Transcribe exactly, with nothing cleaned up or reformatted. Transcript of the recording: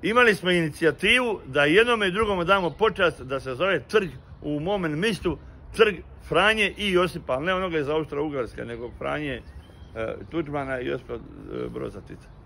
imali smo inicijativu da jednome i drugome damo počast da se zove trg u mome mistu, trg Franje i Josipa, ali ne onoga iz Austro-Ugarske, nego Franje, Tuđmana i Josipa Broza Tita.